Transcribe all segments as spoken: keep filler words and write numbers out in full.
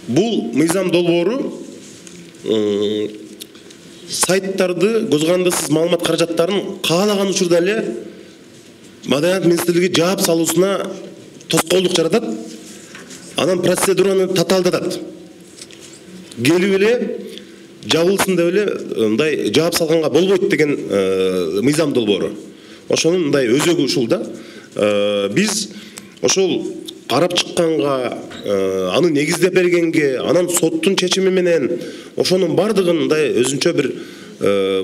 Бул мыйзам долбоору сайттарды көз карандысыз маалымат каражаттарын каалаган учурда эле Маданият министрлиги жаап салуусуна тоскоолдук жаратат, анан процедураны татаалдатат. Келип эле жабылсын деп эле мындай жаап салганга болбойт деген мыйзам долбоору. Ошонун мындай өзөгү ушул да. Биз ошол карап чыкканга, аны негиздеп бергенге, анан соттун чечими менен ошонун бардыгын мындай өзүнчө бир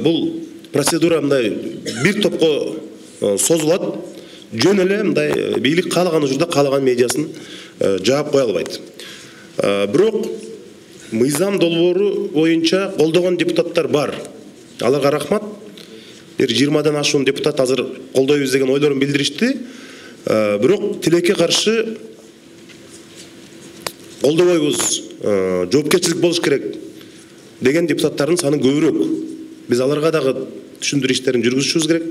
бул процедура мындай бир топко созулат. Жөн эле мындай бийлик каалаган учурда каалаган медиасын жаап кое албайт. Бирок мыйзам долбоору боюнча колдогон депутаттар бар. Аларга рахмат. Бир жыйырмадан ашуун депутат азыр колдойбуз деген ойлорун билдиришти. Бирок тилекке каршы колдобойбуз, жоопкерчилик болуш керек деген депутаттардын саны көбүрөөк. Биз аларга дагы түшүндүрүү иштерин жүргүзүшүбүз керек.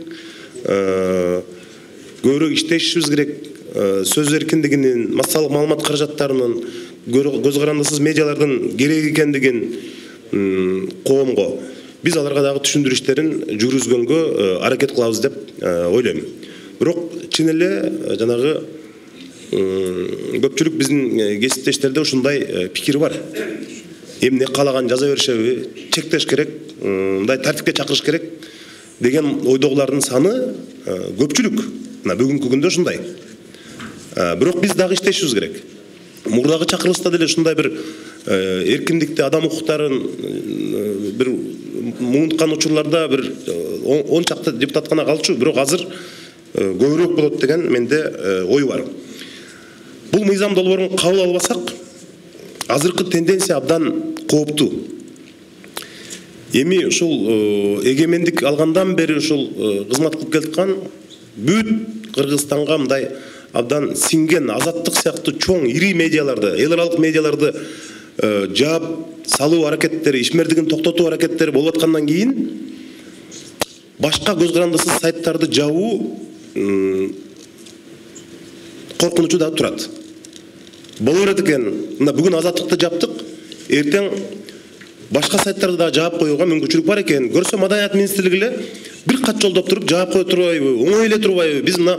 Көбүрөөк иштешибиз керек. Сөз эркиндигинин, массалык маалымат каражаттарынын, көз карандысыз медиалардын керек экендигин коомго биз аларга дагы түшүндүрүү иштерин жүргүзгөнгө аракет кылабыз деп ойлойм. Бирок чын эле жанагы көпчүлүк биздин кесиптештерде ушундай пикир бар. Эмне каалаган жаза беришеби, чектеш керек, мындай тартипке чакырыш керек деген ойдогулардын саны көпчүлүк. Мына бүгүнкү күндө ушундай. Бирок биз дагы иштешибиз керек. Мурдагы чакырылышта деле ушундай бир эркиндикти, адам укуктарын бир муунткан учурларда бир он чакты депутат гана калчу, бирок азыр көбүрөөк болот деген менде ой бар. Бул мыйзам долбоорун кабыл албасак, азыркы тенденция абдан кооптуу. Эми ушул эгемендик алгандан бери ушул кызмат кылып келаткан бүт Кыргызстанга мындай абдан синген Азаттык сыяктуу чоң ири медиаларды, эл аралык медиаларды жаап салуу аракеттери, ишмердигин токтотуу аракеттери болуп аткандан кийин башка көз карандысыз сайттарды жабуу коркунучу да турат. Боло берет экен, мына бүгүн Азаттыкты жаптык, эртең башка сайттарды да жаап коюуга мүмкүнчүлүк бар экен. Көрсө Маданият министрлиги эле бир кат жолдоп туруп жаап кое турбайбы, оңой эле турбайбы? Биз мына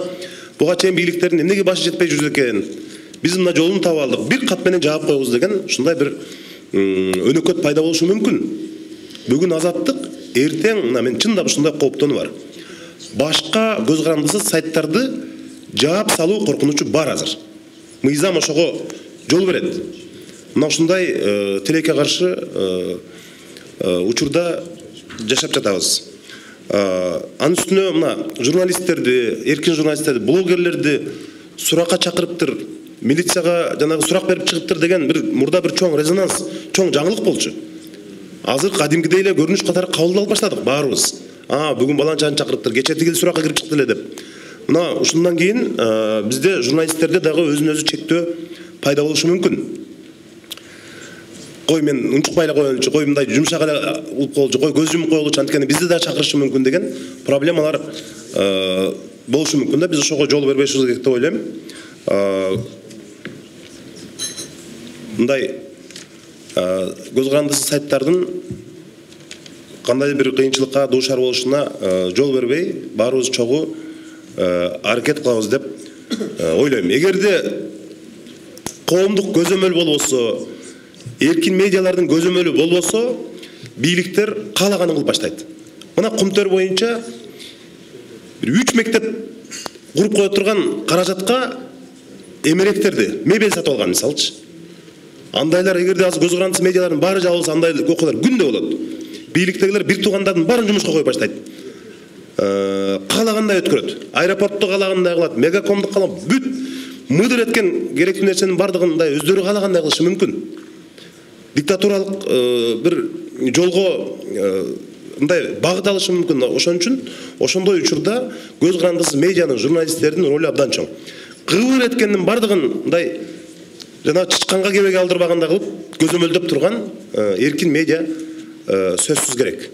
буга чейин бийликтердин эмнеге башы жетпей жүрдү экен? Биз мына жолун таап алдык, бир кат менен жаап коебуз деген ушундай бир өнөкөт пайда болушу мүмкүн. Бүгүн Азаттык, эртең мына мен чындап ушундай кооптонуу бар. Башка көз карандысыз сайттарды жаап салуу коркунучу бар азыр. Мыйзам ошого жол берет. Мына ушундай тилекке каршы учурда жашап жатабыз. Анын үстүнө мына журналисттерди, эркин журналисттерди, блогерлерди суракка чакырыптыр, милицияга жанагы сурак берип чыгыптыр деген бир мурда бир чоң резонанс, чоң жаңылык болчу. Азыр кадимкидей эле көрүнүш катары кабыл алып баштадык баарыбыз. А, бүгүн баланчаны чакырыптыр, кече тигил суракка кирип чыкты эле деп. Мына ушундан кийин бизде журналисттерде дагы өзүн өзү чектөө пайда болушу мүмкүн. Кой мен унчукпай эле коелучу, кой мындай жумшак эле улуп коелучу, кой көз жумуп коелучу, анткени бизди да чакырышы мүмкүн деген проблемалар болушу мүмкүн да. Биз ошого жол бербешибиз керек деп ойлойм. Мындай көз карандысыз сайттардын кандай бир кыйынчылыкка дуушар болушуна жол бербей, баарыбыз чогуу аракет кылабыз деп ойлойм. Эгерде коомдук көзөмөл болбосо, эркин медиалардын көзөмөлү болбосо, бийликтер каалаганын кылып баштайт. Мына Кумтөр боюнча бир үч мектеп куруп кое турган каражатка эмеректерди, мебель сатып алган мисалчы. Андайлар эгерде азыр көз карандысыз медиалардын баары жабылса, андай окуялар күндө болот. Бийликтегилер бир туугандардын баарын жумушка коюп баштайт. Каалагандай өткөрөт. Аэропортту каалагандай кылат, мегакомду каалагандай, бүт мыдыр эткен керектүү нерсенин бардыгын мындай өздөрү каалагандай кылышы мүмкүн. Диктатуралык бир жолго мындай багыт алышы мүмкүн. Ошон үчүн ошондой учурда көз карандысыз медианын, журналисттердин ролу абдан чоң. Кыбыр эткендин бардыгын мындай жана чычканга кебеге алдырбагандай кылып көзөмөлдөп турган эркин медиа сөзсүз керек.